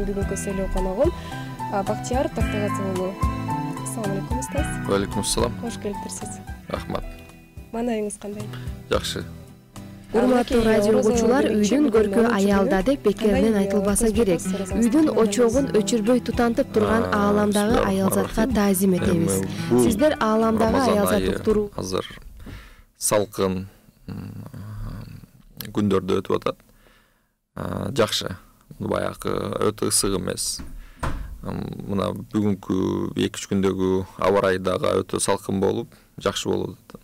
менин бүгүнкү сүйлөө коногум Бактияр Токтогазы уулу. Ассалам алейкум устаз. Алейкум ассалам. Кош келиптирсиз. Рахмат. Маанайыңыз кандай? Жакшы. Урматтуу радио угуучулар, үйдүн көркү аялда деп бекеринен айтылбаса керек. Үйдүн очогун өчүрбөй тутантып турган ааламдагы аялзатка таазим этебиз. Сиздер ааламдагы аялзат уктуруу азыр салкын күндөрдө өтүп атат. Жакшы. Баягы өтө ысык эмес. Мына бүгүнкү 2-3 күндөгү аба ырайы дагы өтө салкын болуп, жакшы болуп атат.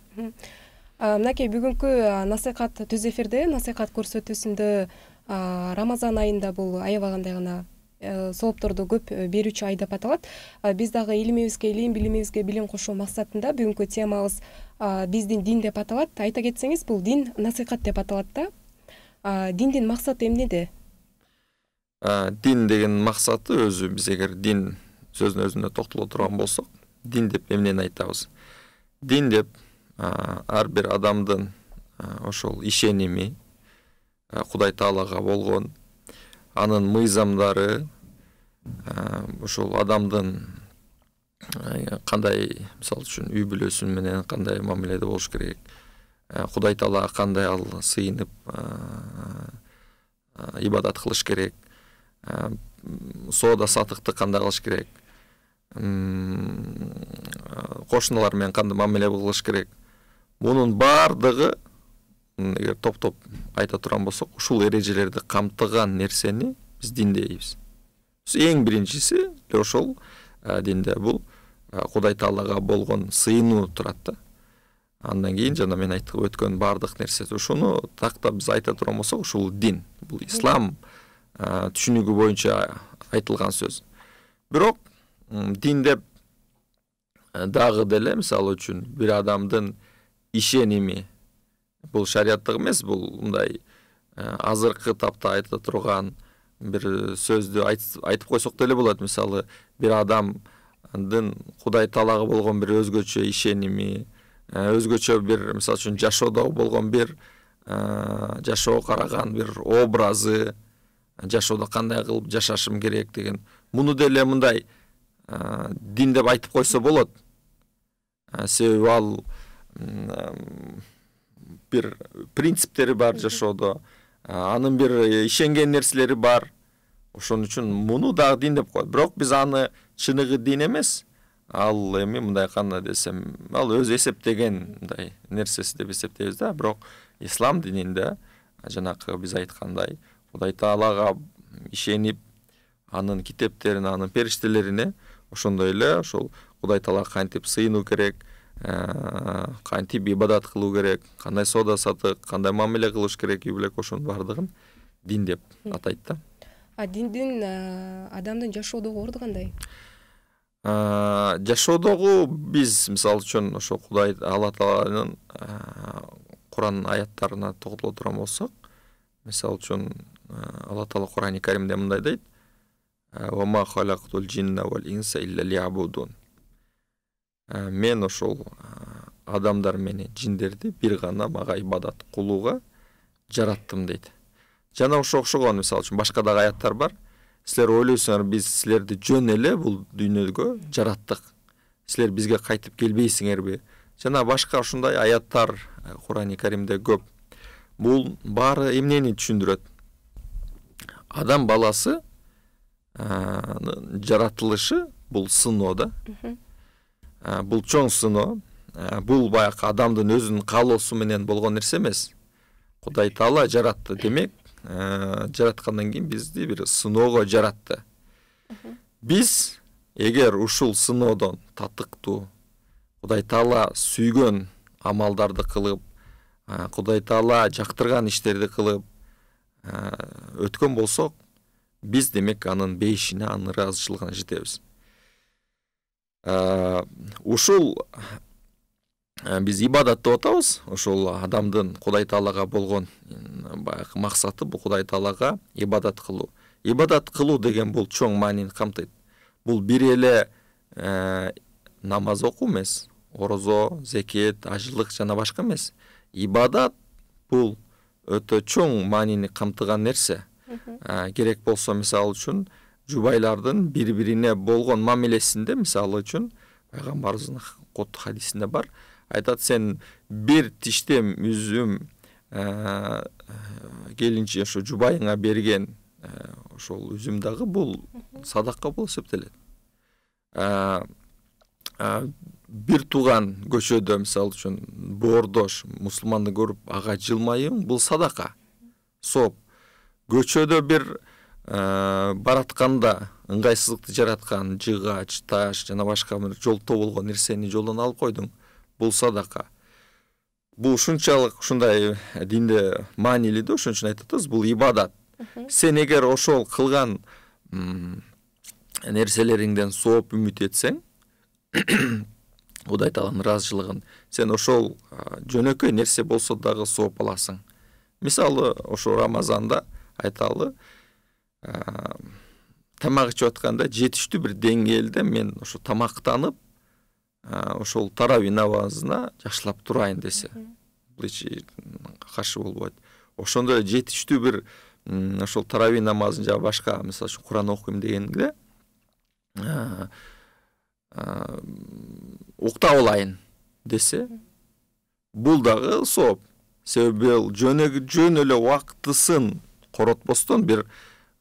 Мынакей бүгүнкү насыйкат түз эфирде насыйкат көрсөтүүсүндө Рамазан айында бул аябагандай гана соопторду көп берүүчү ай деп аталат. Биз дагы илимибизге илим, билимибизге билим кошуу максатында бүгүнкү темабыз биздин дин деп аталат. Айта кетсеңиз, бул дин насыйкат деп аталат да. Диндин максаты эмнеде? Дин деген максаты өзү, биз эгер дин сөзүнүн өзүнө токтоло турган болсок, дин деп эмнени айтабыз? Дин деп ар бир адамдын ошол ишеними, Кудай Таалага болгон анын мыйзамдары, ошол адамдын кандай, мисалы үчүн үй бүлөсү менен кандай мамиледе болуш керек, Кудай Таалага кандай ал сыйынып ибадат кылыш керек, соода сатыкты кандай кылыш керек, кошуналар менен кандай мамиле кылыш керек. Мунун бардыгы эгер топтоп айта турган болсок, ушул эрежелерди камтыган нерсени биз дин дейбиз. Эң биринчиси ошол динде бул Кудай Таалага болгон сыйынуу турат да. Андан кийин жана мен айтып өткөн бардык нерсе ушуну тактап биз айта турган болсок, ушул дин, бул ислам түшүнүгү боюнча айтылган сөз. Бирок дин деп дагы деле мисалы үчүн бир адамдын ишеними, бул шариаттык эмес, бул мындай азыркы тапта айта турган бир сөздү айтып койсок деле болот. Мисалы, бир адамдын Кудай Таалага болгон бир өзгөчө ишеними, өзгөчө бир мисалы үчүн жашоодо болгон бир жашоого караган бир образы, жашоодо кандай кылып жашашым керек деген. Муну деле мындай дин деп айтып койсо болот. Себеби ал бир принциптери бар жашоодо, анын бир ишенген нерселери бар. Ошон үчүн муну дагы дин деп коет. Бирок биз аны чыныгы дин эмес, ал эми мындай кандай десем, ал өз эсептеген мындай нерсеси деп эсептейбиз да. Бирок ислам дининде жанакы биз айткандай Кудай Таалага ишенип, анын китептерине, анын периштелерине, ошондой эле ошол Кудай Таалага кантип сыйынуу керек, кантип ибадат кылуу керек, кандай соода сатык, кандай мамиле кылыш керек, ошонун бардыгын дин деп атайт да. Диндин адамдын жашоодогу орду кандай? Жашоодогу биз мисалы үчүн ошо Кудай Алла Тааланын Куран аяттарына токтоло турган болсок, мисалы үчүн Алла Таала Курани Каримде мындай дейт: "Ва ма халактул джинна вал инса илля лиябудун". Мен ошол адамдар менен жиндерди бир гана мага ибадат кылууга жараттым дейт. Жана ошо окшогон мисалы үчүн башка дагы аяттар бар. Силер ойлойсуңар, биз силерди жөн эле бул дүйнөгө жараттык. Силер бизге кайтып келбейсиңерби? Жана башка ушундай аяттар Курани Каримде көп. Бул баары эмнени түшүндүрөт? Адам баласы жаратылышы бул сыноо да. Бул чоң сыноо. Бул баягы адамдын өзүнүн каалоосу менен болгон нерсе эмес. Кудай Таала жаратты, демек, жараткандан кийин бизди бир сыноого жаратты. Биз эгер ушул сыноодон татыктуу, Кудай Таала сүйгөн амалдарды кылып, Кудай Таала жактырган иштерди кылып өткөн болсок, биз демек анын бейишине, анын ыраазычылыгына жетебиз. Ушул биз ибадат деп атабыз. Ошол адамдын Кудай Таалага болгон баягы максаты бул Кудай Таалага ибадат кылуу. Ибадат кылуу деген бул чоң маанини камтыйт. Бул бир эле намаз окуу эмес, орозо, зекет, ажылык жана башка эмес. Ибадат бул өтө чоң маанини камтыган нерсе. Керек болсо мисалы үчүн жубайлардын бири-бирине болгон мамилесинде, мисалы үчүн пайгамбарыбыздын кот хадисинде бар, айтат, сен бир тиштем үзүм келинчи ошо жубайыңа берген ошол үзүм дагы бул садака болуп эсептелет. Бир тууган көчөдө, мисалы үчүн боордош мусулманды көрүп ага жылмаюң, бул садака, сооп. Көчөдө бир баратканда ыңгайсыздыкты жараткан жыгач, таш жана башка бир жолтоо болгон нерсени жолдон алып койдуң, бул садака. Бул ушунчалык ушундай динде маанилүү да, ошон үчүн айтабыз, бул ибадат. Сен эгер ошол кылган нерселериңден сооп үмүт этсең, Кудай Тааланын ыраазычылыгын, сен ошол жөнөкөй нерсе болсо дагы сооп аласың. Мисалы, ошо Рамазанда айталы, тамак ичип атканда жетиштүү бир деңгээлде мен ошо тамактанып, ошол тарави намазына жакшылап турайын десе, бул эч каршы болбойт. Ошондо жетиштүү бир ошол тарави намазын жана башка, мисалы үчүн Куран окуйм дегенде уктап алайын десе, бул дагы сооп. Себеби жөн эле убактысын коротпостон бир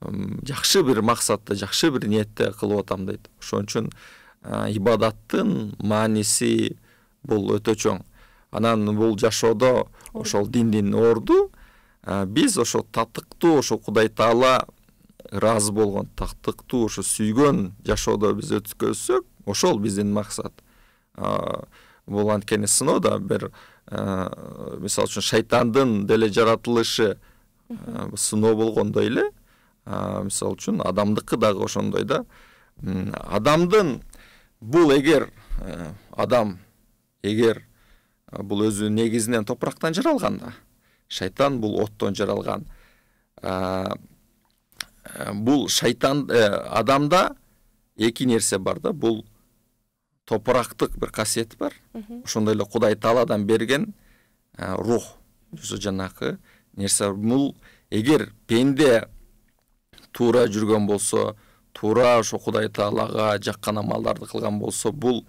жакшы бир максатта, жакшы бир ниетте кылып атам дейт. Ошон үчүн ибадаттын мааниси бул өтө чоң. Анан бул жашоодо ошол диндин орду биз ошо татыктуу, ошо Кудай Таала ыраазы болгон, татыктуу, ошо сүйгөн жашоодо биз өткөзсөк, ошол биздин максат. Бул анткени сыноодо бир мисалы үчүн шайтандын деле жаратылышы сыноо болгондой эле, мисалы үчүн адамдыкы дагы ошондой да. Адамдын бул эгер бул өзү негизинен топурактан жаралганда, шайтан бул оттон жаралган. Бул шайтан адамда эки нерсе бар да, бул топурактык бир касиет бар. Ошондой эле Кудай Тааладан берген рух, жанакы нерсе. Бул эгер пенде туура жүргөн болсо, туура ошо Кудай Таалага жаккан амалдарды кылган болсо, бул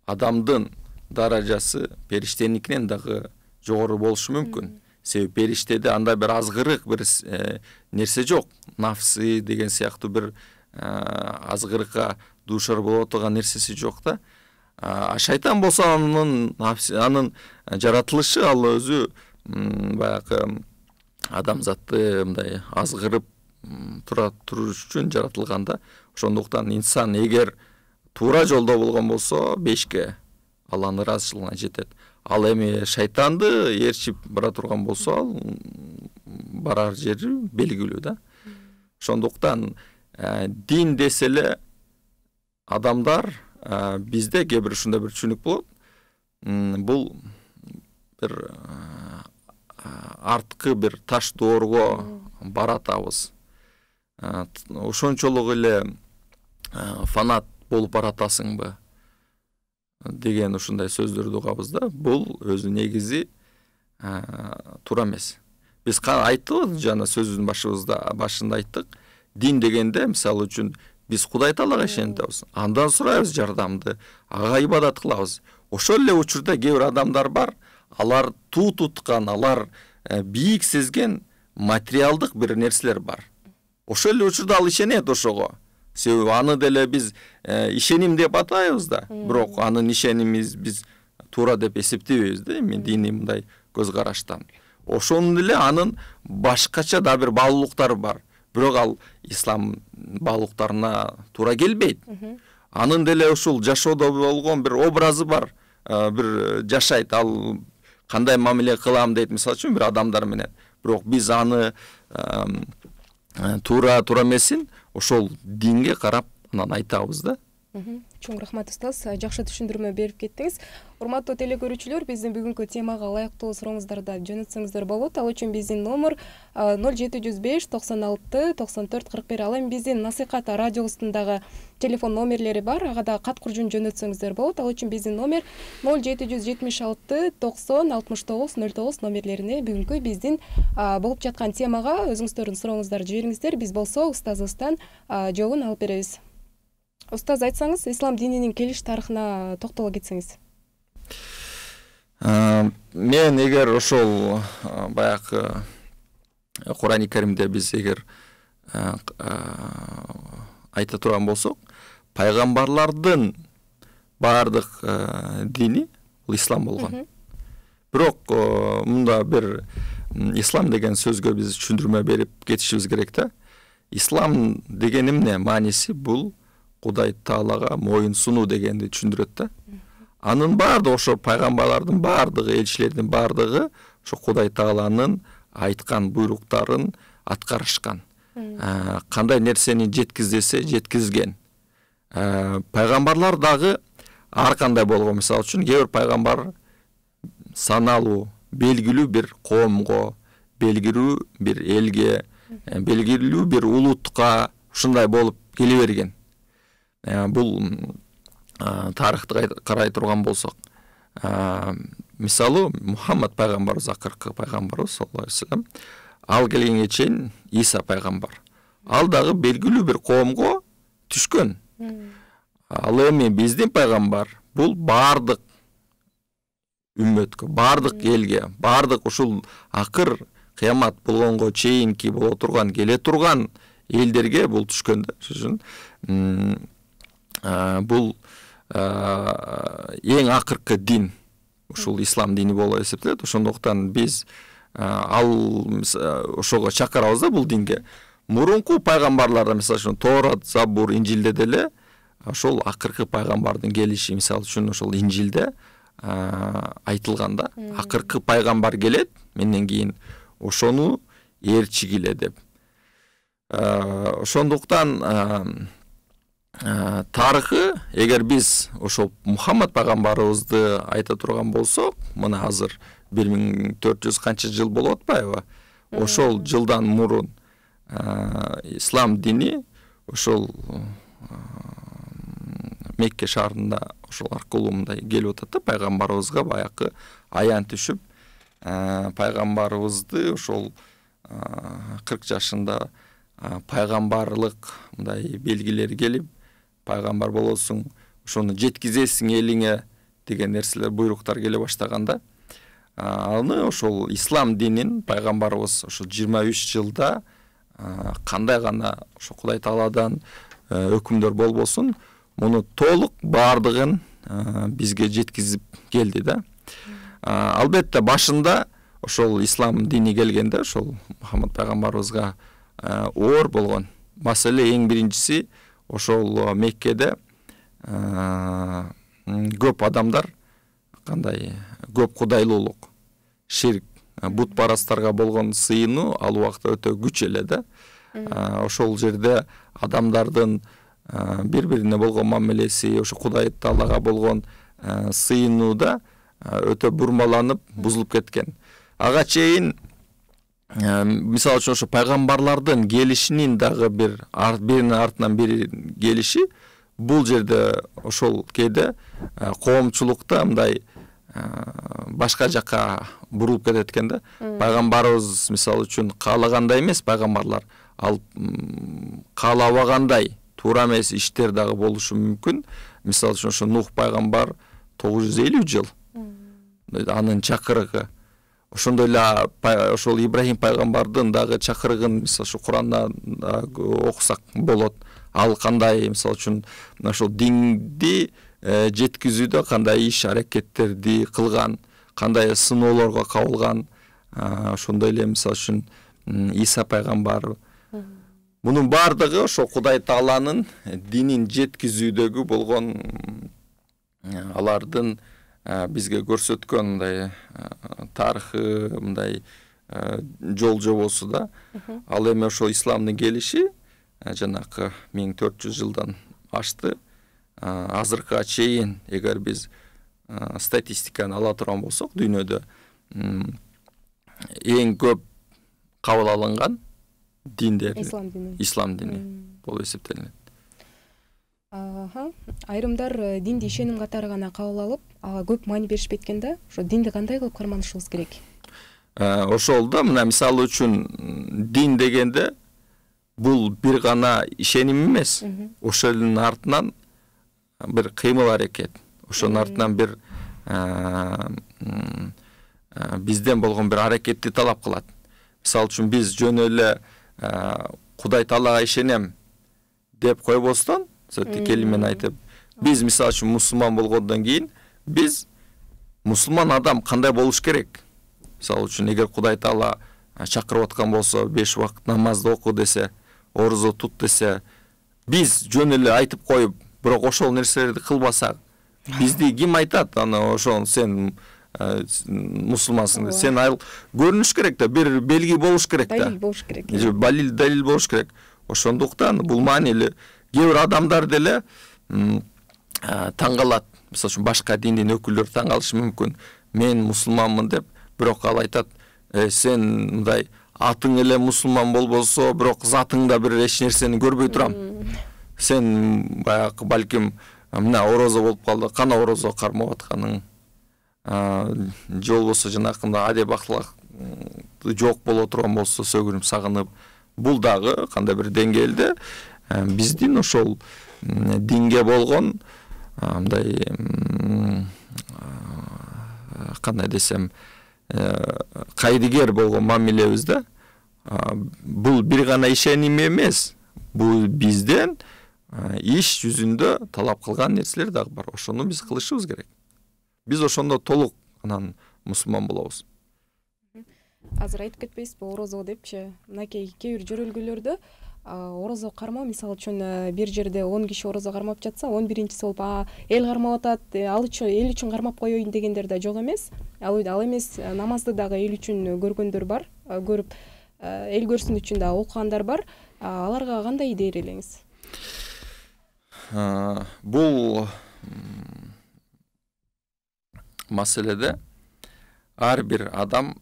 адамдын даражасы периштеникинен дагы жогору болушу мүмкүн. Себеби периштеде андай бир азгырык бир нерсе жок. Нафсы деген сыяктуу бир азгырыкка дуушар боло турган нерсеси жок да. Шайтан болсо анын жаратылышы, ал өзү баягы адамзатты мындай азгырып туруш үчүн жаратылган да. Ошондуктан инсан эгер туура жолдо болгон болсо, бешке Алланын ыраазычылыгына жетет. Ал эми шайтанды ээрчип бара турган болсо, ал барар жери белгилүү да. Ошондуктан дин деселе адамдар бизде кээ бир ушундай бир түшүнүк болот. Бул бир арткы бир таш доорго баратабыз. Ошончолук эле фанат болуп баратасыңбы деген ушундай сөздөрдү угабыз да. Бул өзү негизи туура эмес. Биз айттык, жана сөзүбүздүн башында айттык. Дин дегенде, мисалы үчүн, биз Кудай Таалага ишенебиз, андан сурайбыз жардамды, ага ибадат кылабыз. Ошол эле учурда кээ бир адамдар бар, алар туу туткан, алар бийик сезген материалдык бир нерселер бар. Ошол эле учурда ал ишенет ошого. Себеби аны деле биз ишеним деп атайбыз да, бирок анын ишенимиз биз туура деп эсептебейбиз да, эми диний мындай көз караштан. Ошондой эле анын башкача да бир баалуулуктары бар. Бирок ал ислам баалуулуктарына туура келбейт. Анын деле ушул жашоодо болгон бир образы бар, бир жашайт, ал кандай мамиле кылам дейт, мисалы үчүн бир адамдар менен. Бирок биз аны туура эмесин ошол динге карап анан айтабыз да. Чоң рахмат устаз, жакшы түшүндүрмө берип кеттиңиз. Урматтуу теле көрүүчүлөр, биздин бүгүнкү темага ылайыктуу сурооңуздарды жөнөтсөңүздөр болот. Ал үчүн биздин номер 0705 96 94 41. Ал эми биздин насыйкат радиобуздун дагы телефон номерлери бар. Ага да кат куржун жөнөтсөңүздөр болот. Ал үчүн биздин номер 0776 90 69 09 номерлерине бүгүнкү биздин болуп жаткан темага өзүңүздөрдүн сурооңуздарды жибериңиздер. Биз болсо устазыбыздан жообун алып беребиз. Устаз, айтсаңыз, ислам дининин келиш тарыхына токтоло кетсеңиз. Мен эгер ошол баягы Курани Каримде биз эгер айта турган болсок, пайгамбарлардын баардык дини бул ислам болгон. Бирок мында бир ислам деген сөзгө биз түшүндүрмө берип кетишибиз керек да. Ислам деген эмне? Мааниси бул Кудай Таалага моюн сунуу дегенди түшүндүрөт да. Анын баардыгы ошо пайгамбарлардын баардыгы, элчилердин баардыгы ошо Кудай Тааланын айткан буйруктарын аткарышкан. Кандай нерсени жеткиз десе жеткизген. Пайгамбарлар дагы ар кандай болгон. Мисалы үчүн кээ бир пайгамбар саналуу, белгилүү бир коомго, белгилүү бир элге, белгилүү бир улутка ушундай болуп келе берген. Бул тарыхты карай турган болсок, мисалы Мухаммад пайгамбарыбыз, акыркы пайгамбарыбыз саллаллаху алейхи вассалам, ал келгенге чейин Иса пайгамбар. Ал дагы белгилүү бир коомго түшкөн. Ал эми биздин пайгамбар бул баардык үммөткө, баардык элге, баардык ушул акыр кыямат болгонго чейинки боло турган, келе турган элдерге бул түшкөн да. Ошон бул эң акыркы дин ушул ислам дини болуп эсептелет. Ошондуктан биз ошого чакырабыз да бул динге. Мурунку пайгамбарларда, мисалы үчүн Торат, Забур, Инжилде деле ошол акыркы пайгамбардын келиши, мисалы үчүн ошол Инжилде айтылган да. Акыркы пайгамбар келет, менден кийин ошону ээрчигиле деп. Ошондуктан тарыхы, эгер биз ошол Мухаммад пайгамбарыбызды айта турган болсок, мына азыр 1400 канча жыл болуп атпайбы? Ошол жылдан мурун ислам дини ошол Мекке шаарында ошол аркылуу мындай келип атат да, пайгамбарыбызга баягы аян түшүп, пайгамбарыбызды ошол 40 жашында пайгамбарлык мындай белгилери келип, пайгамбар болосуң, ошону жеткизесиң элиңе деген нерселер, буйруктар келе баштаганда, аны ошол ислам динин пайгамбарыбыз ошо 23 жылда кандай гана ошо Кудай Тааладан өкүмдөр болбосун, муну толук баардыгын бизге жеткизип келди да. Албетте башында ошол ислам дини келгенде ошол Мухаммад пайгамбарыбызга оор болгон маселе эң биринчиси ошол Меккеде көп адамдар кандай көп кудайлуулук, ширк, бутпарастарга болгон сыйынуу ал убакта өтө күч эле да. Ошол жерде адамдардын бири-бирине болгон мамилеси, ошо Кудай Таалага болгон сыйынууда өтө бурмаланып, бузулуп кеткен. Ага чейин мисалы үчүн ошо пайгамбарлардын келишинин дагы биринин артынан бири келиши, бул жерде ошол кээде коомчулукта мындай башка жака бурулуп кетет экен да. Пайгамбарыбыз мисалы үчүн каалагандай эмес, пайгамбарлар ал каалабагандай туура эмес иштер дагы болушу мүмкүн. Мисалы үчүн ошо Нух пайгамбар 950 жыл анын чакырыгы. Ошондой эле ошол Ибрахим пайгамбардын дагы чакырыгын мисалы ушу Курандан окусак болот. Ал кандай мисалы үчүн ошол динди жеткизүүдө кандай иш аракеттерди кылган, кандай сыноолорго кабылган, ошондой эле мисалы үчүн Иса пайгамбар. Мунун баардыгы ошо Кудай Тааланын динин жеткизүүдөгү болгон алардын бизге көрсөткөн мындай тарыхы, мындай жол жобосу да. Ал эми ошо исламдын келиши жанакы 1400 жылдан ашты. азыркыга чейин эгер биз статистиканы ала турган болсок, дүйнөдө эң көп кабыл алынган диндер ислам дини болуп эсептелинет. Айрымдар динди ишеним катары гана кабыл алып, ага көп маани беришпейт экен да. Ошо динди кандай кылып карманышыбыз керек? Ошол да, мына мисалы үчүн дин дегенде бул бир гана ишеним эмес. Ошонун артынан бир кыймыл аракет, ошонун артынан бир бизден болгон бир аракетти талап кылат. Мисалы үчүн биз жөн эле Кудай Таалага ишенем деп койбостон, келимен айтып, биз мисалы үчүн мусулман болгондон кийин биз мусулман адам кандай болуш керек? Мисалы үчүн эгер Кудай Таала чакырып аткан болсо, 5 убакыт намазды оку десе, орозо тут десе, биз жөн эле айтып коюп, бирок ошол нерселерди кылбасак, бизди ким айтат? Аны ошол сен мусулмансың, сен көрүнүш керек да, бир белги болуш керек да. Далил болуш керек. Далил болуш керек. Ошондуктан бул маанилүү. Кээ бир адамдар деле таң калат. Мисалы үчүн башка диндин өкүлдөрү таң калышы мүмкүн. Мен мусулманмын деп, бирок ал айтат, сен мындай атың эле мусулман болбосо, бирок затыңда бир эч нерсени көрбөй турам. Сен баягы балким мына орозо болуп калды, кана орозо кармап атканың, же болбосо жанакындай адеп акылак жок боло турган болсо, сөгүнүп сагынып, бул дагы кандай бир деңгээлде биздин ошол динге болгон мындай кандай десем кайдыгер болгон мамилебиз да. Бул бир гана ишеним эмес, бул бизден иш жүзүндө талап кылган нерселер дагы бар. Ошону биз кылышыбыз керек. Биз ошондо толук анан мусулман болобуз. Азыр айтып кетпейсизби орозо депчи? Мынакей кээ бир жөрөлгөлөрдө орозо кармоо, мисалы үчүн бир жерде 10 киши орозо кармап жатса, 11-чиси болуп эл кармап атат, ал үчүн эл үчүн кармап коеюн дегендер да жок эмес. Ал эмес, намазды дагы эл үчүн көргөндөр бар, көрүп эл көрсүн үчүн да окугандар бар. Аларга кандай идея берелиңиз? Бул маселеде ар бир адам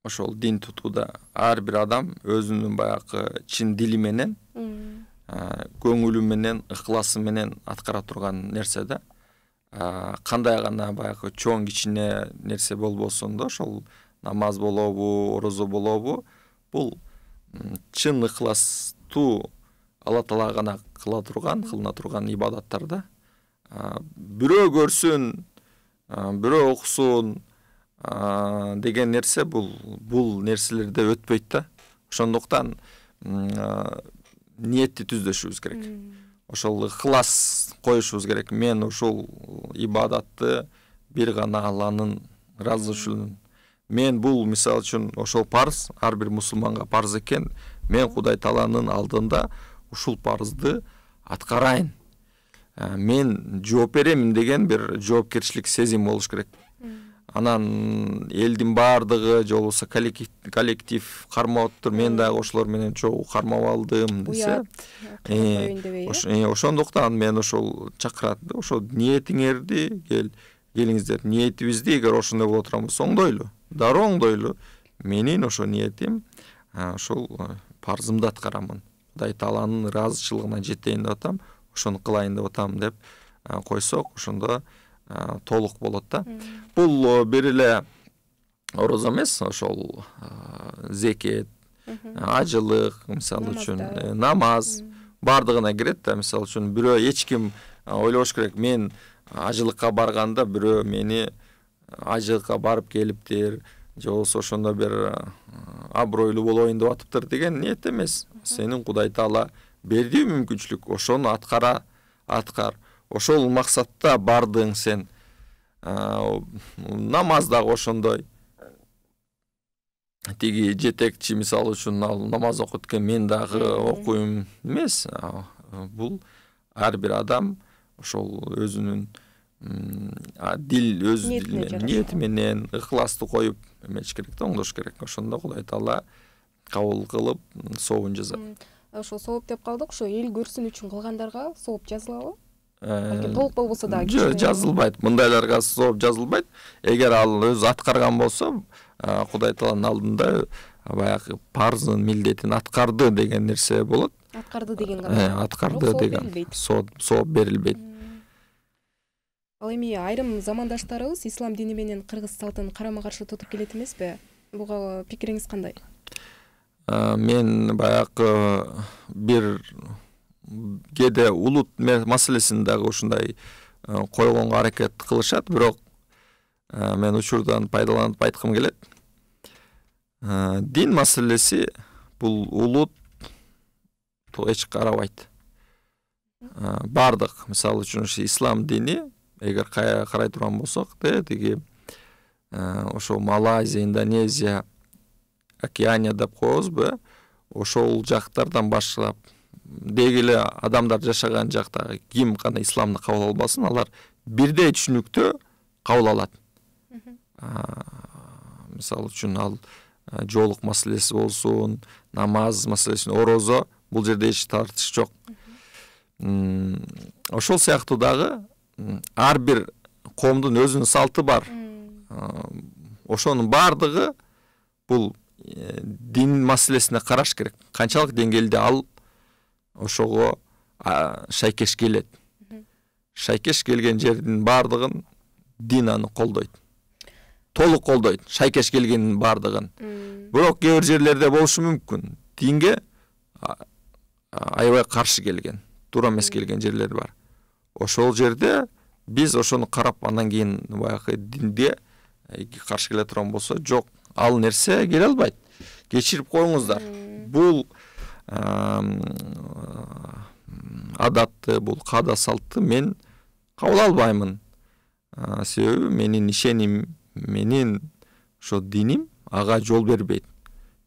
ошол дин тутууда ар бир адам өзүнүн баягы чын дили менен, көңүлү менен, ыхласы менен аткара турган нерсе да. Кандай гана баягы чоң кичине нерсе болбосун да, ошол намаз болобу, орозо болобу, бул чын ыхластуу Алла Таала гана кылына турган ибадаттар да. Бирөө көрсүн, бирөө окусун деген нерсе бул нерселерде өтпөйт да. Ошондуктан ниетти түздөшүбүз керек. Ошол ыхлас коюшубуз керек. Мен ушул ибадатты бир гана Алланын ыраазычылыгын. Мен бул мисалы үчүн ошол парыз, ар бир мусулманга парыз экен. Мен Кудай Тааланын алдында ушул парызды аткарайын. Мен жооп беремин деген бир жоопкерчилик сезим болуш керек. Анан элдин баардыгы же болбосо коллектив кармап атыптыр, мен дагы ошолор менен чогуу кармап алдым десе, ошондуктан мен ошол чакырат да, ошол ниетиңерди келиңиздер, ниетибизди эгер ошондой боло турган болсо оңдойлу, дароо оңдойлу. Менин ошо ниетим ошол парзымды аткарамын. Кудай Тааланын ыраазычылыгына жетейин деп атам, ошону кылайын деп атам деп койсок, ошондо толук болот да. Бул бир эле орозо эмес, ошол зекет, ажылык, мисалы үчүн намаз бардыгына кирет да. Мисалы үчүн бирөө эч ким ойлош керек, мен ажылыкка барганда бирөө мени ажылыкка барып келиптир, же болбосо ошондо бир абройлуу болоюн деп атыптыр деген ниет эмес. Сенин Кудай Таала берди мүмкүнчүлүк, ошону аткар. Ошол максатта бардың сен. Намаз дагы ошондой. Тиги жетекчи мисалы үчүн ал намаз окуйт экен, мен дагы окуйм эмес. Бул ар бир адам ошол өзүнүн өз ниети менен ыхласты коюп эмеш керек да, оңдош керек. Ошондо Кудай Таала кабыл кылып сообун жазат. Ошол сооп деп калдык, ошо эл көрсүн үчүн кылгандарга сооп жазылабы? балким толук болбосо дагы жок, жазылбайт. Мындайларга сооп жазылбайт. Эгер ал өзү аткарган болсо, Кудай Тааланын алдында баягы парзын, милдетин аткарды деген нерсе болот. Аткарды деген гана. Аткарды деген сооп берилбейт. Ал эми айрым замандаштарыбыз ислам дини менен кыргыз салтын карама-каршы тутуп келет эмеспи? Буга пикириңиз кандай? Мен баягы бир кээде улут маселесин дагы ушундай койгонго аракет кылышат, бирок мен учурдан пайдаланып айткым келет. Дин маселеси бул улут эч карабайт. Бардык, мисалы үчүн ислам дини эгер карай турган болсок, тиги ошо Малайзия, Индонезия, Океания деп коебузбу, ошол жактардан башлап деги эле адамдар жашаган жакта ким гана исламды кабыл албасын, алар бирдей түшүнүктө кабыл алат. Мисалы үчүн ал жоолук маселеси болсун, намаз маселеси, орозо, бул жерде эч тартыш жок. Ошол сыяктуу дагы ар бир коомдун өзүнүн салты бар. Ошонун бардыгы бул дин маселесине караш керек. Канчалык деңгээлде ал ошого шайкеш келет. Шайкеш келген жердин бардыгын дин аны колдойт. Толук колдойт, шайкеш келгенин бардыгын. Бирок кээ бир жерлерде болушу мүмкүн. Динге аябай каршы келген, туура эмес келген жерлер бар. Ошол жерде биз ошону карап, андан кийин баягы динде каршы келе турган болсо, жок, ал нерсе келе албайт. Кечирип коюңуздар. Бул адатты, бул каада салтты мен кабыл албаймын. Себеби менин ишеним, менин ошо диним ага жол бербейт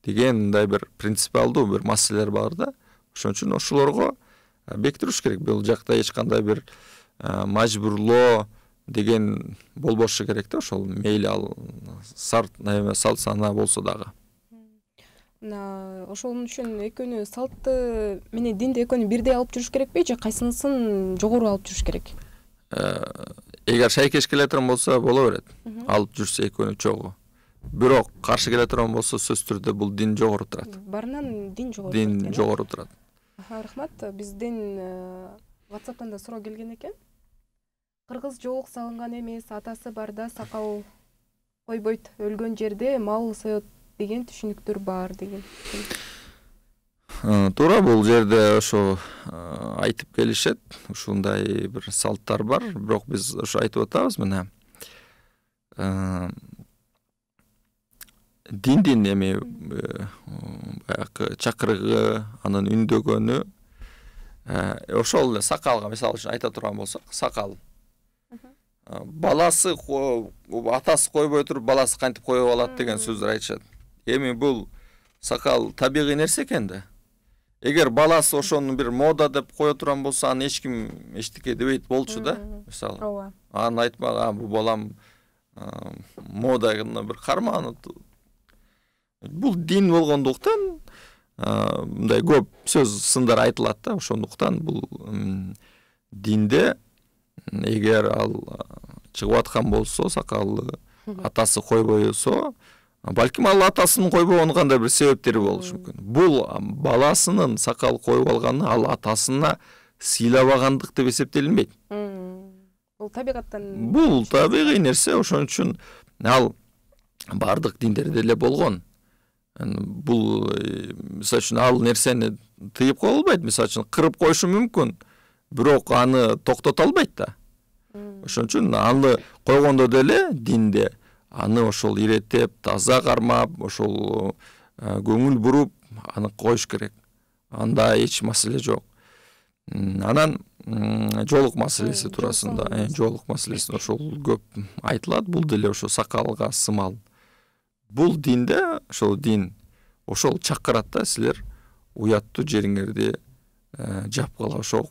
деген мындай бир принципиалдуу бир маселелер бар да. Ошон үчүн ошолорго бекитиш керек. Бул жакта эч кандай бир мажбурлоо деген болбошу керек да. Ошол мейли ал салт сана болсо дагы. Ошол үчүн экөөнү салтты менен динди экөөнү бирдей алып жүрүш керекпи же кайсынысын жогору алып жүрүш керек? Эгер шайкеш келе турган болсо боло берет. Алып жүрсө экөөнү чогуу. Бирок каршы келе турган болсо сөзсүз түрдө бул дин жогору турат. Барынан дин жогору. Дин жогору турат. Рахмат. Бизден WhatsApp'тан да суроо келген экен. Кыргыз жоолук салынган эмес, атасы барда сакал койбойт, өлгөн жерде мал соет деген түшүнүктөр бар деген. Туура, бул жерде ошо айтып келишет, ушундай бир салттар бар, бирок биз ошо айтып атабыз мына. Диндин эми баягы чакырыгы, анын үндөгөнү ошол эле сакалга мисалы үчүн айта турган болсок, сакал. Баласы атасы койбой туруп, баласы кантип коюп алат деген сөздөр айтышат. Эми бул сакал табигый нерсе экен да. Эгер баласы ошону бир мода деп кое турган болсо, аны эч ким эчтеке дебейт болчу да. Мисалы, аны айтмага, бул балам моданы бир кармаган. Бул дин болгондуктан мындай көп сөз сындар айтылат да. Ошондуктан бул динде эгер ал чыгып аткан болсо, сакалы атасы койбойсо, балким ал атасынын койбогонун кандай бир себептери болушу мүмкүн. Бул баласынын сакал коюп алганы ал атасына сыйлабагандык деп эсептелинбейт. Бул табигаттан. Бул табигый нерсе, ошон үчүн ал бардык диндерде эле болгон. Бул мисалы үчүн ал нерсени тыйып кое албайт, мисалы үчүн кырып коюшу мүмкүн, бирок аны токтото албайт да. Ошон үчүн аны койгондо деле динде аны ошол иреттеп, таза кармап, ошол көңүл буруп аны коюш керек. Анда эч маселе жок. Анан жоолук маселеси туурасында, жоолук маселеси ошол көп айтылат. Бул деле ошо сакалга сымал. Бул динде ошол дин ошол чакырат да, силер уяттуу жериңерди жапкыла, ошо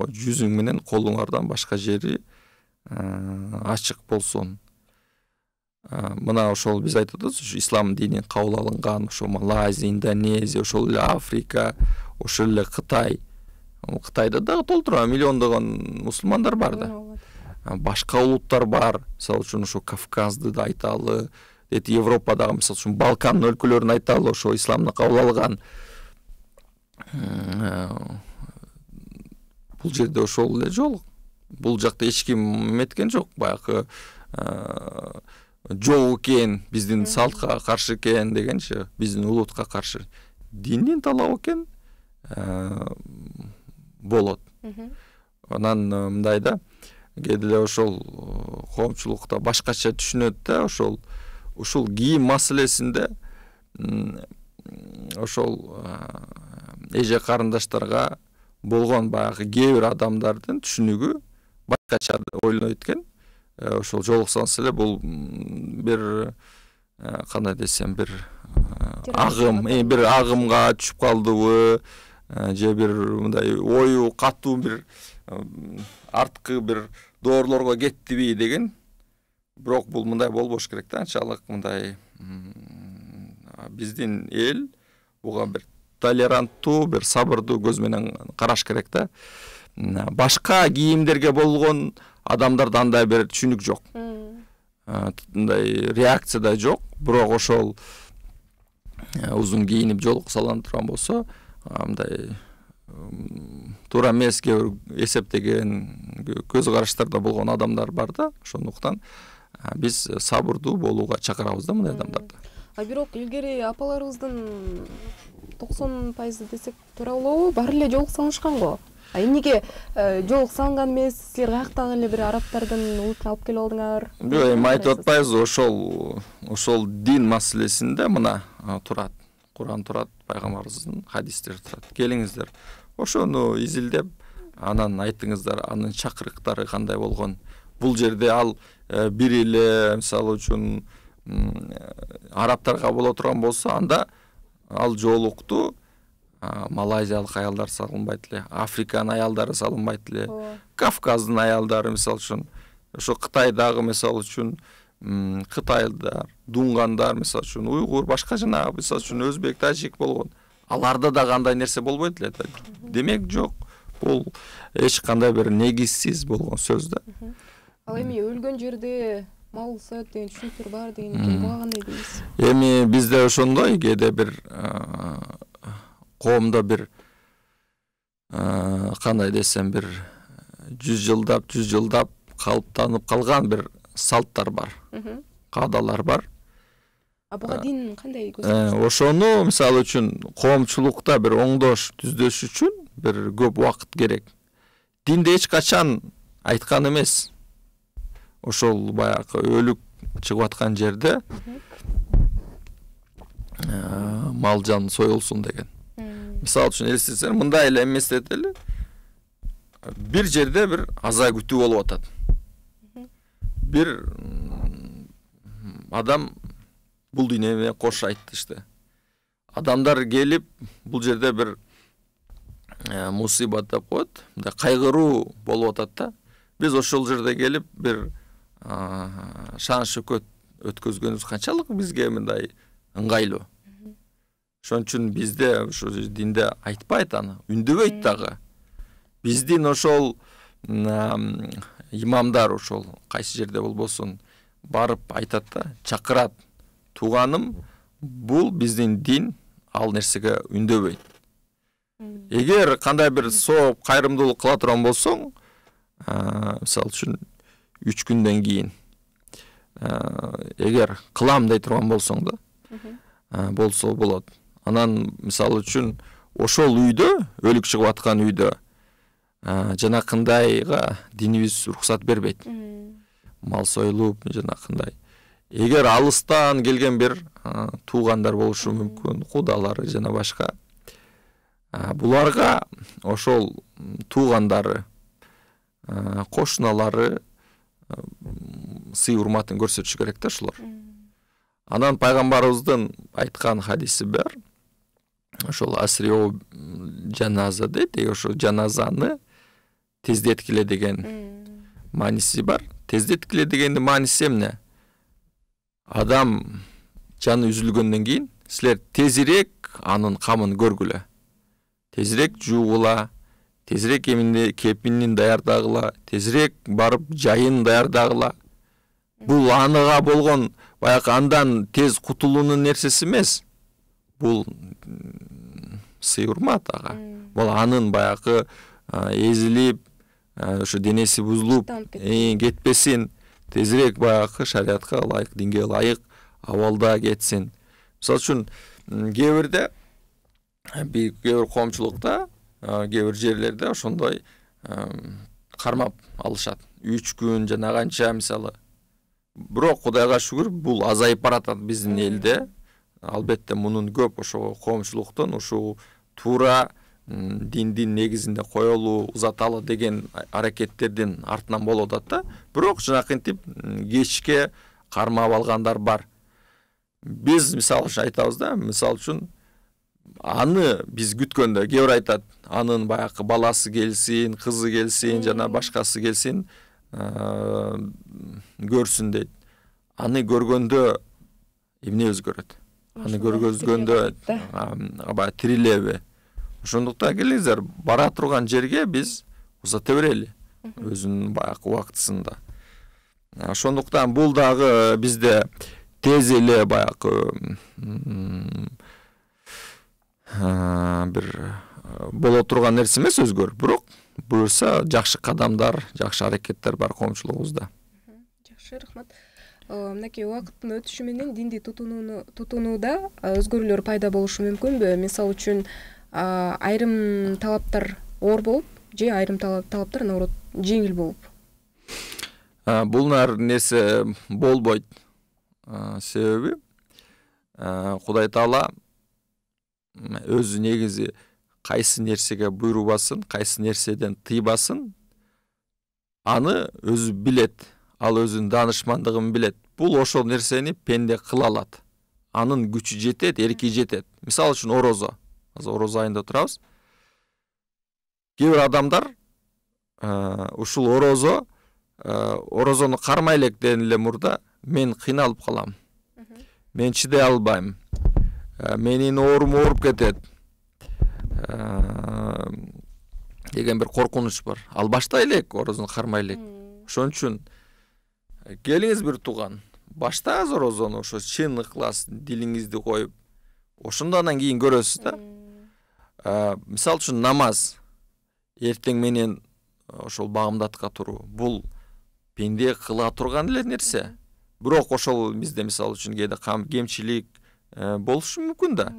жүзүң менен колуңардан башка жери ачык болсун. Мына ошол биз айтып атабыз, ислам дини кабыл алынган ошо Малайзия, Индонезия, ошол эле Африка, ошол эле Кытай, Кытайда дагы толтура миллиондогон мусулмандар бар да. Башка улуттар бар. Мисалы үчүн ошо Кавказды да айталы, Европадагы мисалы үчүн Балкан өлкөлөрүн айталы, ошо исламды кабыл алган. Бул жерде ошол эле жол. Бул жакта эч ким эметкен жок. Баягы жок экен, биздин салтка каршы экен дегенчи, биздин улутка каршы. Диндин талабы экен болот. Анан мындай да, кээде эле ошол коомчулукта башкача түшүнөт да, ушул кийим маселесинде ошол эже карындаштарга болгон баягы кээ бир адамдардын түшүнүгү башкача ойлонот экен. Ошол жолуксаңыз эле бул бир кандай десем, бир агымга түшүп калдыбы, же бир мындай ою катуу бир арткы бир доорлорго кеттиби деген. Бирок бул мындай болбош керек да, анчалык мындай биздин эл буга бир толеранттуу, бир сабырдуу көз менен караш керек да. Башка кийимдерге болгон адамдарда андай бир түшүнүк жок. Мындай реакция да жок. Бирок ошол узун кийинип жолуксалан турган болсо, мындай туура эмес эсептеген көз караштарда болгон адамдар бар да. Ошондуктан биз сабырдуу болууга чакырабыз да мындай адамдарды. Бирок илгери апаларыбыздын 90% десек туура болобу? Баары эле жолуксалышкан го. Эмнеге жолуксалган эмес? Силер каяктагы эле бир арабтардын улутун алып келип алдыңар? Жок, эми айтып атпайбыз, ошол дин маселесинде мына турат. Куран турат, пайгамбарыбыздын хадистери турат. Келиңиздер, ошону изилдеп, анан айтыңыздар, анын чакырыктары кандай болгон. Бул жерде ал бир эле, мисалы үчүн, арабтарга боло турган болсо, анда ал жоолукту малайзиялык аялдар салынбайт эле, Африканын аялдары салынбайт эле, Кавказдын аялдары мисалы үчүн, ошо Кытайдагы мисалы үчүн кытайлар, дунгандар мисалы үчүн, уйгур, башка жанагы мисалы үчүн өзбек, тажик болгон. Аларда да кандай нерсе болбойт эле. Демек жок, бул эч кандай бир негизсиз болгон сөз да. Ал эми өлгөн жерде мал сат деген түшүнүктөр бар деген экен. Буга кандай дейсиз? Эми бизде ошондой кээде бир коомдо бир кандай десем, бир 100 жылдап калыптанып калган бир салттар бар, каадалар бар. Буга дин кандай ошону мисалы үчүн коомчулукта бир оңдош түздөш үчүн бир көп убакыт керек. Динде эч качан айткан эмес. Ошол баягы өлүк чыгып аткан жерде мал жан союлсун деген. Мисалы үчүн элестетсеңер, мындай эле эместетели. Бир жерде бир аза күтүү болуп атат. Бир адам бул дүйнө менен кош айтышты. Адамдар келип бул жерде бир мусибат деп коет, мындай кайгыруу болуп атат да. Биз ошол жерде келип бир шан шөкөт өткөзгөнүбүз канчалык бизге мындай ыңгайлуу. Ошон үчүн бизде ошо динде айтпайт аны, үндөбөйт дагы. Биздин ошол имамдар ошол кайсы жерде болбосун барып айтат да, чакырат. Тууганым, бул биздин дин, ал нерсеге үндөбөйт. Эгер кандай бир сооп кайрымдуулук кыла турган болсоң, мисалы үчүн 3 күндөн кийин эгер кылам дей турган болсоң да, болсо болот. Анан мисалы үчүн ошол үйдө, өлүк чыгып аткан үйдө жанакындайга динибиз уруксат бербейт. Мал союлуп жанакындай. Эгер алыстан келген бир туугандар болушу мүмкүн, кудалары жана башка, буларга ошол туугандары, кошуналары сый урматын көрсөтүш керек да ошолор. Анан пайгамбарыбыздын айткан хадиси бар. Ошол асрио жаназа дейт, ошо жаназаны тездеткиле деген мааниси бар. Тездеткиле дегендин мааниси эмне? Адам жаны үзүлгөндөн кийин силер тезирээк анын камын көргүлө. Тезирээк жуугула, тезирээк кепинин даярдагыла, тезирээк барып жайын даярдагыла. Бул аныга болгон баягы андан тез кутулуунун нерсеси эмес. Бул сый урмат ага. Бул анын баягы эзилип, ошо денеси бузулуп кетпесин, тезирээк баягы шариатка ылайык, динге ылайык абалда кетсин. Мисалы үчүн кээ бир коомчулукта, кээ бир жерлерде ошондой кармап алышат. 3 күн жана канча мисалы. Бирок Кудайга шүгүр, бул азайып баратат биздин элде. Албетте мунун көп ошо коомчулуктун ушул туура диндин негизинде коелуу, узаталы деген аракеттердин артынан болуп атат да. Бирок жанакынтип кечке кармап алгандар бар. Биз мисалы үчүн айтабыз да, мисалы үчүн аны биз күткөндө кээ бир айтат, анын баягы баласы келсин, кызы келсин, жана башкасы келсин, көрсүн дейт. Аны көргөндө эмне өзгөрөт? Аны көргөзгөндө аба тирилеби? Ошондуктан келиңиздер, бара турган жерге биз узата берели өзүнүн баягы убактысында. Ошондуктан бул дагы бизде тез эле баягы бир боло турган нерсе эмес өзгөрүп, бирок буюрса жакшы кадамдар, жакшы аракеттер бар коомчулугубузда. Жакшы, рахмат. Мынакей убакыттын өтүшү менен динди тутунууда өзгөрүүлөр пайда болушу мүмкүнбү? Мисалы үчүн айрым талаптар оор болуп, же айрым талаптар наоборот жеңил болуп? Бул нерсе болбойт. Себеби Кудай Таала өзү негизи кайсы нерсеге буйрубасын, кайсы нерседен тыйбасын, аны өзү билет. Ал өзүнүн даанышмандыгын билет. Бул ошол нерсени пенде кыла алат. Анын күчү жетет, эрки жетет. Мисалы үчүн орозо. Азыр орозо айында турабыз. Кээ бир адамдар ушул орозону кармай электен эле мурда мен кыйналып калам. Мен чыдай албайм. Менин оорум ооруп кетет. Деген бир коркунуч бар. Ал баштай элек орозону кармай элек. Ошон үчүн келиңиз бир тууган, баштаңыз орозону, ошо чын ыклас дилиңизди коюп, ошондон кийин көрөсүз да. Мисалы үчүн намаз, эртең менен ошол багымдатка туруу, бул пенде кыла турган эле нерсе. Бирок ошол бизде мисалы үчүн кээде кемчилик болушу мүмкүн да.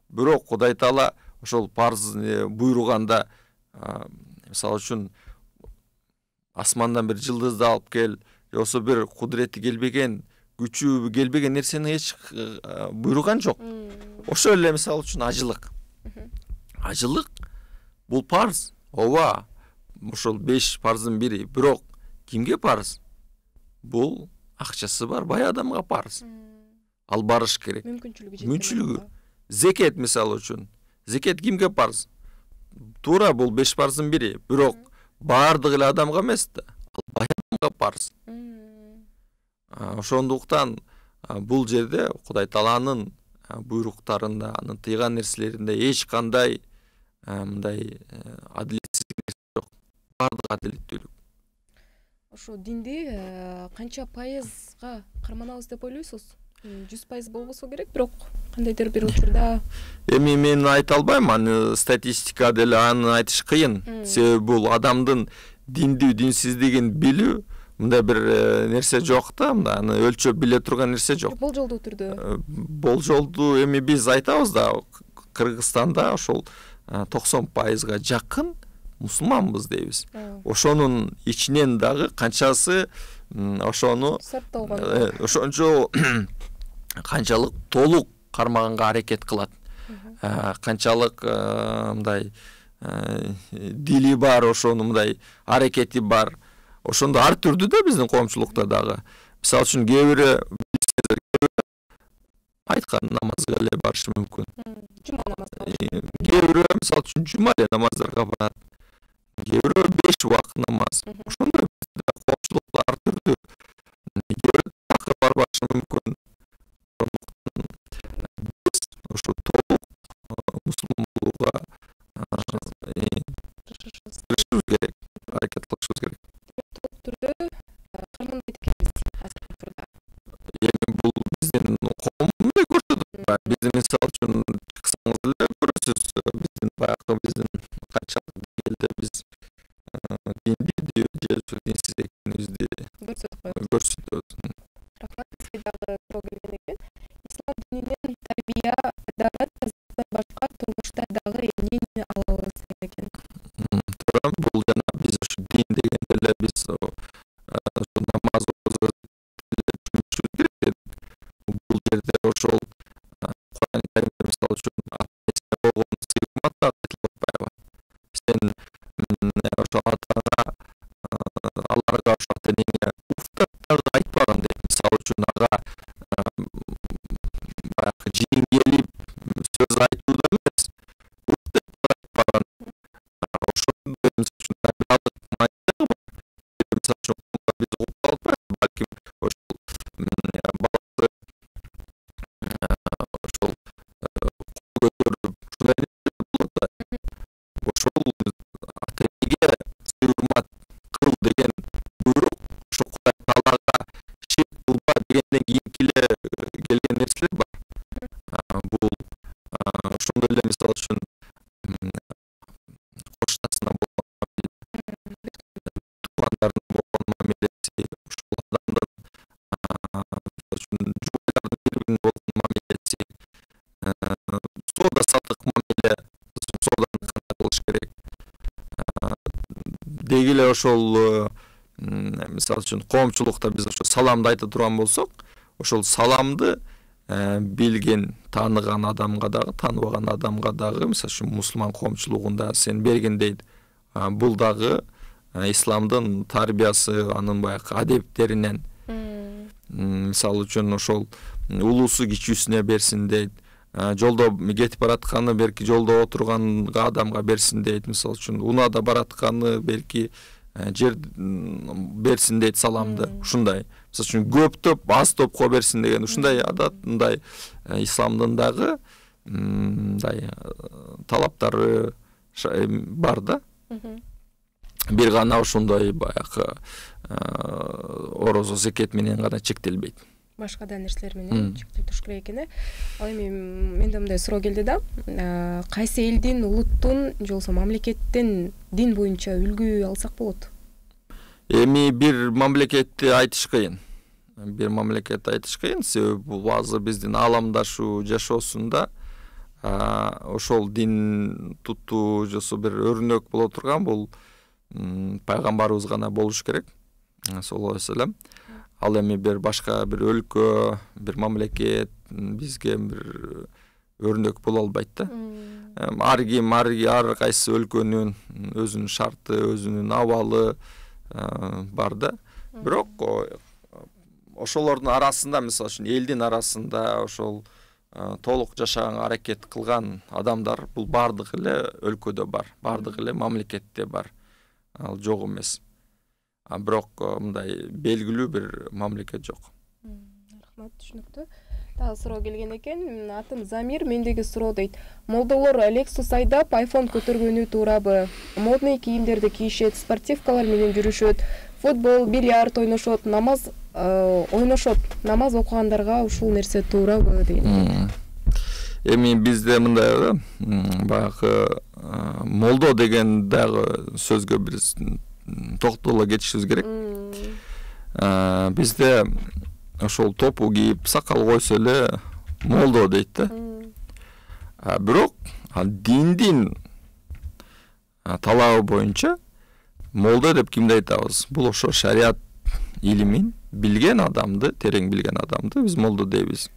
Бирок Кудай Таала ошол парз буйруганда, мисалы үчүн асмандан бир жылдызды алып кел, жосо бир кудурети келбеген, күчү келбеген нерсени эч буйруган жок. Ошол эле мисалы үчүн ажылык. Ажылык бул парз. Ооба, ошол 5 парздын бири. Бирок кимге парз? Бул акчасы бар бай адамга парз. Ал барыш керек. Мүмкүнчүлүгү. Зекет мисалы үчүн. Зекет кимге парз? Туура бул 5 парздын бири. Бирок баардык эле адамга эмес да. Ал бай адамга парз. Ошондуктан бул жерде Кудай Тааланын буйруктарында, анын тыйган нерселеринде эч кандай мындай адилетсиздик нерсе жок. Баардык адилеттүүлүк. Ошо динди канча пайызга карманабыз деп ойлойсуз? 100% болбосо керек, бирок кандайдыр бир учурда эми мен айта албайм, аны статистика деле аны айтыш кыйын. Себеби бул адамдын динди динсиздигин билүү мындай бир нерсе жок да, аны өлчөп биле турган нерсе жок. Болжолдуу түрдө. Болжолдуу эми биз айтабыз да, Кыргызстанда ошол 90%га жакын мусулманбыз дейбиз. Ошонун ичинен дагы канчасы ошону ошончо канчалык толук кармаганга аракет кылат. Канчалык мындай дили бар, ошону мындай аракети бар. Ошондо ар түрдүү да биздин коомчулукта дагы. Мисалы үчүн кээ бири айткан намазга эле барышы мүмкүн. Жума намазы. Кээ бири мисалы үчүн жума эле намаздарга барат. Кээ бири 5 убакыт намаз. Ошондой коомчулукта ар түрдүү. Кээ бири такыр барбашы мүмкүн. Биз ошо толук мусулман болууга түрдө карманбайт экенбиз азыркы учурда. Эми бул биздин коом мындай көрсөтөт. Биздин мисалы үчүн чыксаңыз эле көрөсүз, биздин канчалык элде биз диндүү же динсиз экенибизди көрсөтөбүз. Рахмат, сизге дагы суроо келген экен. Ислам дининен тарбия, адабат, тазалыктан башка турмушта дагы эмнени ала алабыз деген экен. Туура, бул жана биз ушу дин дегенде эле биз намаз түшүнүшүбүз керек. Бул жерде ошол Кур'ан Каримде мисалы үчүн болгон сыймат айтылып атпайбы? Сен ошо атаңа, аларга ошо ата-энеңе уфтап дагы айтпаган дейт. Мисалы үчүн ага баягы жиң келип сөз айтууда эмес, уфтап айтпаган. Ошондой мисалы үчүн табиалык майдагы бар. Мисалы үчүн биз угуп албайбыз, балким ошол баласы ошол кол көтөрүп ушундай болот да. Ошол ата-энеге сый-урмат кыл деген буйрук, ошо Кудай Таалага ширк кылба дегенден кийинки эле келген нерселер бар. Бул ошондой эле мисалы үчүн кошунасына болгон туугандарына болгон мамилеси, ошол адамдын мисалы үчүн жубайлардын бири-бирине болгон мамилеси, соода саттык мамиле, сооданы кандай кылыш керек. Деги эле ошол мисалы үчүн коомчулукта биз ошо саламды айта турган болсок, ошол саламды билген, тааныган адамга дагы, тааныбаган адамга дагы, мисалы үчүн мусулман коомчулугунда сен берген дейт. Бул дагы исламдын тарбиясы, анын баягы адептеринен. Мисалы үчүн ошол улуусу кичүүсүнө берсин дейт. Жолдо кетип баратканы берки жолдо отурганга адамга берсин дейт. Мисалы үчүн унаада баратканы берки жер берсин дейт саламды. Ушундай. Мисалы үчүн көптөп аз топко берсин деген ушундай адат, мындай исламдын дагы мындай талаптары бар да. Бир гана ошондой баягы орозо, зекет менен гана чектелбейт. Башка да нерселер менен чектелип туруш керек экен. Ал эми менде мындай суроо келди да. Кайсы элдин, улуттун же болбосо мамлекеттин дин боюнча үлгү алсак болот? Эми бир мамлекетти айтыш кыйын. Себеби бул азыр биздин ааламдашуу жашоосунда ошол дин туттуу же болбосо бир өрнөк боло турган бул пайгамбарыбыз гана болуш керек. Саллаллаху алейхи вассалам. Ал эми бир башка бир өлкө, бир мамлекет бизге бир өрнөк боло албайт да. Ар ким, ар кайсы өлкөнүн өзүнүн шарты, өзүнүн абалы бар да. Бирок ошолордун арасында, мисалы үчүн элдин арасында ошол толук жашаганга аракет кылган адамдар бул бардык эле өлкөдө бар, бардык эле мамлекетте бар. Ал жок эмес. Бирок мындай белгилүү бир мамлекет жок. Рахмат, түшүнүктүү. Дагы суроо келген экен. Атым Замир, мендеги суроо дейт. Молдолор Lexus айдап, iPhone көтөргөнү туурабы? Модный кийимдерди кийишет, спортивкалар менен жүрүшөт, футбол, бильярд ойношот, намаз окугандарга ушул нерсе туурабы деген. Эми бизде мындай баягы молдо деген дагы сөзгө биз токтоло кетишибиз керек. Бизде ошол топу кийип, сакал койсо эле молдо дейт да. Бирок диндин талабы боюнча молдо деп кимди айтабыз? Бул ошо шарият илимин билген адамды, терең билген адамды биз молдо дейбиз.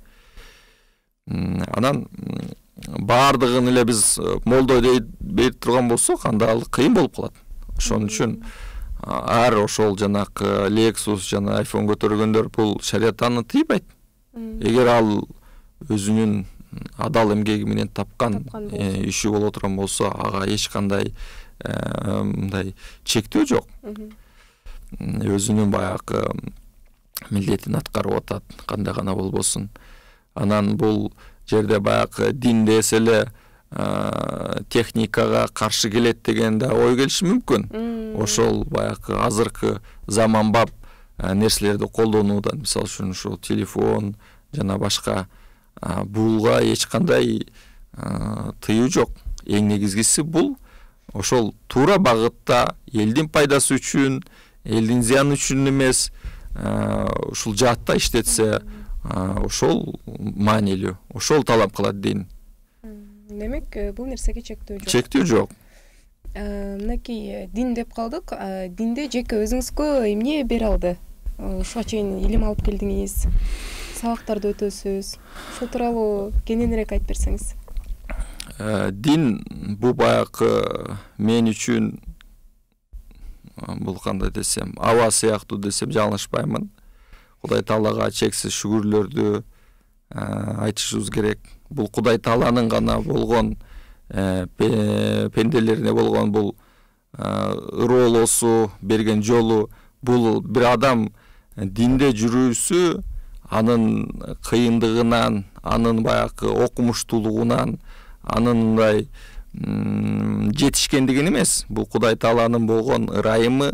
Анан бардыгын эле биз молдо дейт турган болсок, анда ал кыйын болуп калат. Ошон үчүн ар ошол жанакы Lexus жана iPhone көтөргөндөр бул шарият аны тыйбайт. Эгер ал өзүнүн адал эмгеги менен тапкан иши боло турган болсо, ага эч кандай мындай чектөө жок. Өзүнүн баягы милдетин аткарып атат, кандай гана болбосун. Анан бул жерде баягы дин десе эле техникага каршы келет деген да ой келиши мүмкүн. Ошол баягы азыркы заманбап нерселерди колдонуудан, мисалы үчүн ушул телефон жана башка булга эч кандай тыюу жок. Эң негизгиси бул ошол туура багытта элдин пайдасы үчүн, элдин зыяны үчүн эмес, ушул жаатта иштетсе, ошол маанилүү, ошол талап кылат дин. Демек, бул нерсеге чектөө жок. Чектөө жок. Мынакей дин деп калдык. Динде жеке өзүңүзгө эмне бере алды? Ушуга чейин илим алып келдиңиз, сабактарды өтөсүз. Ушул тууралуу кененирээк айтып берсеңиз. Дин бул баягы мен үчүн бул кандай десем, аба сыяктуу десем жалынышпаймын. Кудай Таалага чексиз шүгүрлөрдү айтышыбыз керек. Бул Кудай Тааланын гана болгон пенделерине болгон бул ыроолоосу, берген жолу. Бул бир адам динде жүрүүсү анын кыйындыгынан, анын баягы окумуштуулугунан, анын мындай жетишкендигин эмес. Бул Кудай Тааланын болгон ырайымы,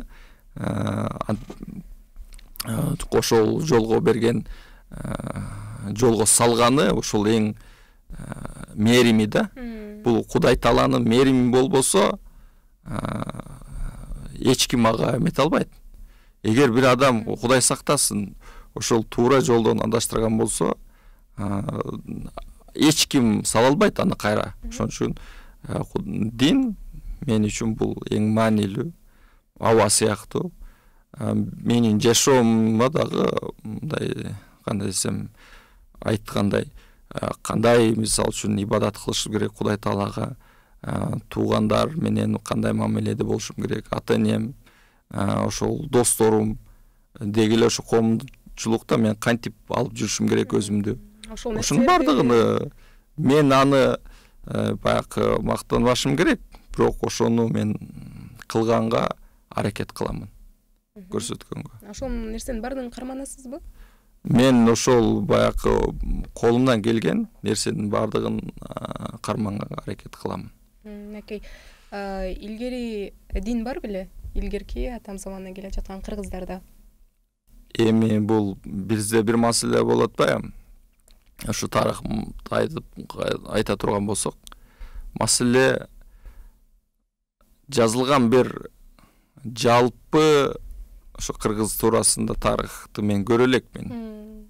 ошол жолго берген, жолго салганы, ошол эң мээрими да. Бул Кудай Тааланын мээрими болбосо, эч ким ага эмете албайт. Эгер бир адам, Кудай сактасын, ошол туура жолдон адаштырган болсо, эч ким сала албайт аны кайра. Ошон үчүн дин мен үчүн бул эң маанилүү, аба сыяктуу. Менин жашоомдо дагы мындай кандай десем, айткандай, кандай мисалы үчүн ибадат кылышым керек Кудай Таалага, туугандар менен кандай мамиледе болушум керек, ата-энем, ошол досторум, деги эле ошо коомчулукта мен кантип алып жүрүшүм керек өзүмдү. Ошонун бардыгын мен аны баягы мактанбашым керек, бирок ошону мен кылганга аракет кыламын, көрсөткөнгө. Ошол нерсенин баардыгын карманасызбы? Мен ошол баягы колумдан келген нерсенин баардыгын карманганга аракет кыламын. Окей. Илгери дин бар беле? Илгерки атам заманынан келе жаткан кыргыздарда. Эми бул бизде бир маселе болот атпайбы? Ошо тарых айта турган болсок, маселе жазылган бир жалпы ошо кыргыз туурасында тарыхты мен көрө элекмин.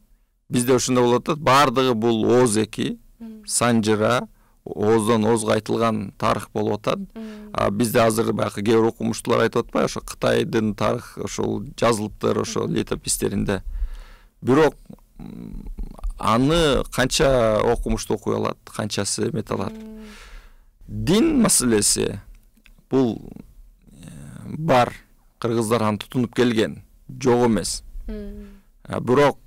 Бизде ошондой болот атат, баардыгы бул ооз эки, санжыра, ооздон оозго айтылган тарых болуп атат. Бизде азыр баягы кээ бир окумуштуулар айтып атпайбы, ошо Кытайдын тарых ошол жазылыптыр, ошо летопистеринде. Бирок аны канча окумуштуу окуй алат, канчасы эмете алат. Дин маселеси бул бар, кыргыздар аны тутунуп келген, жок эмес. Бирок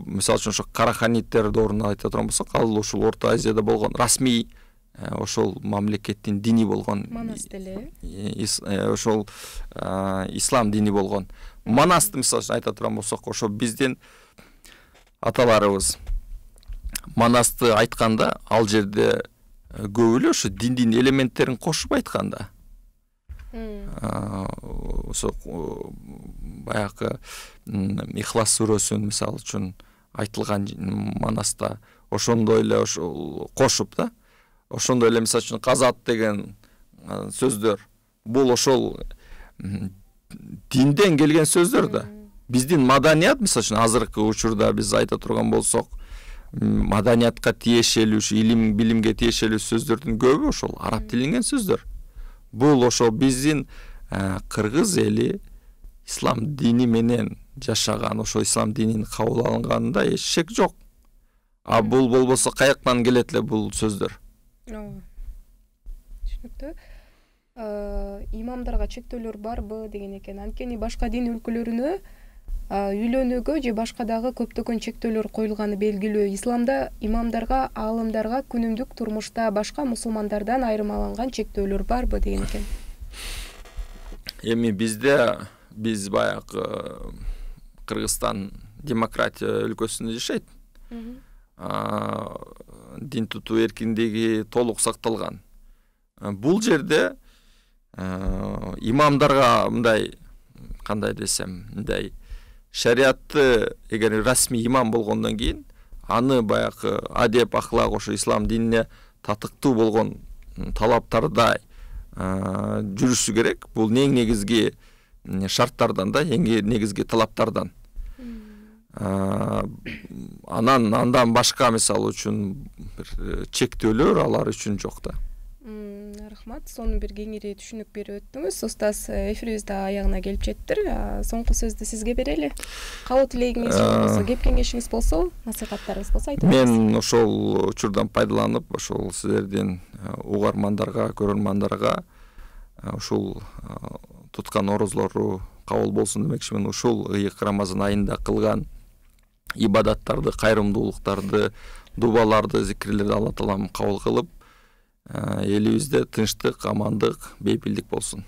мисалы үчүн ошо Караханиттер доорунда айта турган болсок, ал ушул Орто Азияда болгон расмий ошол мамлекеттин дини болгон, Манас деле, ошол ислам дини болгон. Манасты мисалы үчүн айта турган болсок, ошо биздин аталарыбыз Манасты айтканда, ал жерде көп эле ошо диндин элементтерин кошуп айтканда. Ошо баягы Ихлас сүрөсүн мисалы үчүн айтылган Манаста ошондой эле ошол кошуп да. Ошондой эле мисалы үчүн казат деген сөздөр, бул ошол динден келген сөздөр да. Биздин маданият мисалы үчүн азыркы учурда биз айта турган болсок, маданиятка тиешелүү, илим билимге тиешелүү сөздөрдүн көбү ошол араб тилинен сөздөр. Бул ошол биздин кыргыз эли ислам дини менен жашаган, ошол ислам динин кабыл алынганында эч шек жок. Бул болбосо каяктан келет эле бул сөздөр? Түшүнүктүү. Имамдарга чектөөлөр барбы деген экен. Анткени башка дин өлкөлөрүнө үйлөнүүгө же башка дагы көптөгөн чектөөлөр коюлганы белгилүү. Исламда имамдарга, аалымдарга күнүмдүк турмушта башка мусулмандардан айырмаланган чектөөлөр барбы деген экен. Эми биз баягы Кыргызстан демократия өлкөсүндө жашайт. дин тутуу эркиндиги толук сакталган. Бул жерде имамдарга мындай кандай десем, мындай шариатты эгер расмий имам болгондон кийин аны баягы адеп, ахлак ошо ислам динине татыктуу болгон талаптарда жүрүшү керек. Бул эң негизги шарттардан да, эң негизги талаптардан. Андан башка мисалы үчүн бир чектөөлөр алар үчүн жок да. Рахмат, сонун бир кеңири түшүнүк берип өттүңүз. Устаз, эфирибиз да аягына келип жеттир. Соңку сөздү сизге берели. Каалоо тилегиңиз болсо, кеп кеңешиңиз болсо, насихаттарыңыз болсо айтыңыз. Мен ошол учурдан пайдаланып, ошол силердин угармандарга, көрөрмандарга ушул туткан орозлору кабыл болсун демекчимин. Ушул ыйык Рамазан айында кылган ибадаттарды, кайрымдуулуктарды, дубаларды, зикирлерди Алла таалам кабыл кылып, элибизде тынчтык, амандык, бейпилдик болсун.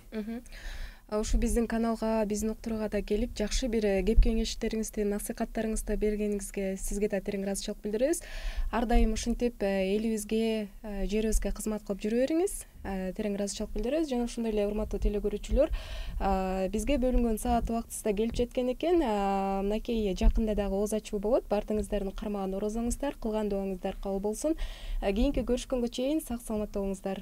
Ушу биздин каналга, биздин уктурууга да келип, жакшы бир кеп кеңештериңизди, насихаттарыңызды бергениңизге сизге да терең ыраазычылык билдиребиз. Ар дайым ушинтип элибизге, жерибизге кызмат кылып жүрө бериңиз. Терең ыраазычылык билдиребиз. Жана ошондой эле урматтуу телекөрүүчүлөр, бизге бөлүнгөн саат убактысы да келип жеткен экен. Мынакей жакында дагы ооз ачуу болот. Баардыгыңыздардын кармаган орозоңуздар, кылган дуаңыздар кабыл болсун. Кийинки көрүшкөнгө чейин сак саламатта болуңуздар.